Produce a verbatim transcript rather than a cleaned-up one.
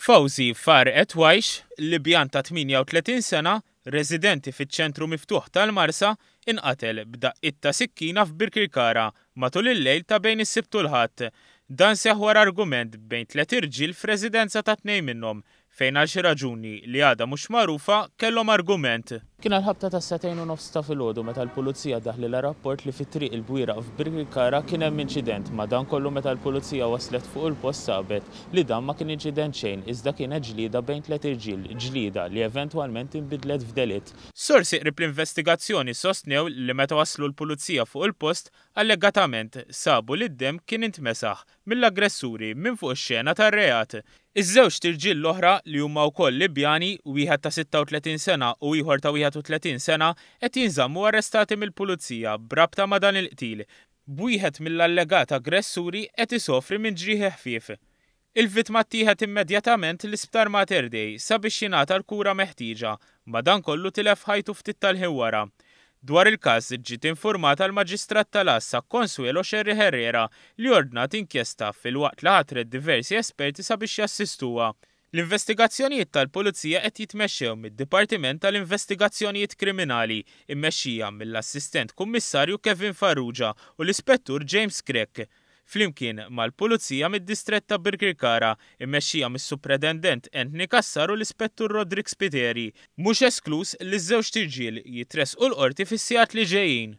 Fawzi Far Etwajx, Libjan ta' tmienja u tletin sena, residenti fiċ-ċentru miftuħ tal-Marsa, inqatel b'daqqiet ta' sikkina f'Birkirkara matul il-lejl ta' bejn is-Sibt u l-Ħadd. Dan seħħ wara argument bejn tliet irġiel f'residenza ta' tnejn minnhom, fejn għal xi raġuni li għadha mhux magħrufa kellhom argument. Kien għal-ħabta ta' sagħtejn u nofs ta' filgħodu meta l-pulizija daħlilha rapport li fit-triq il-Bwira f'Birkirkara kien hemm inċident. Madankollu, meta l-pulizija waslet fuq il-post, sabet li dan ma kien inċident xejn, iżda kienet ġlida bejn tliet irġiel, ġlida li eventwalment inbidlet f'delitt. Sorsi qrib l-investigazzjoni sostnew li meta waslu l-pulizija fuq il-post, allegatament sabu li d-dem kien intmesaħ mill-aggressuri minn fuq ix-xena tar-reat. Iż-żewġt irġiel l-oħra, li huma wkoll Libjani, wieħed ta' sitta u tletin sena u ieħor ta' wieħed u tletin sena, qed jinżammu arrestati mill-pulizija b'rabta ma' dan il-qtil, b'wieħed mill-allegat aggressuri qed isofri minn ġrieħi ħfief. Il-vittma ttieħed immedjatament l-Isptar Mater Dei sabiex jingħata l-kura meħtieġa, madankollu tilef ħajtu ftit tal-ħin wara. Dwar il-każ ġiet informata l-Maġistrat tal-Għassa Consuelo Scerri Herrera, li ordnat inkjesta filwaqt li ħatret diversi esperti sabiex jassistuha. L-investigazzjonijiet tal-Pulizija qed jitmexxew mid-Dipartiment tal-Investigazzjonijiet Kriminali, immexxija mill-Assistent Kummissarju Kevin Farrugia u l-Ispettur James Grech, flimkien mal-Pulizija mid-Distrett ta' Birkirkara, immexxija mis-Supretendent Anthony Cassar u l-Ispettur Roderick Spiteri. Mhux esklus li ż-żewġt irġiel jitressqu l-qorti fis-sigħat li ġejjin.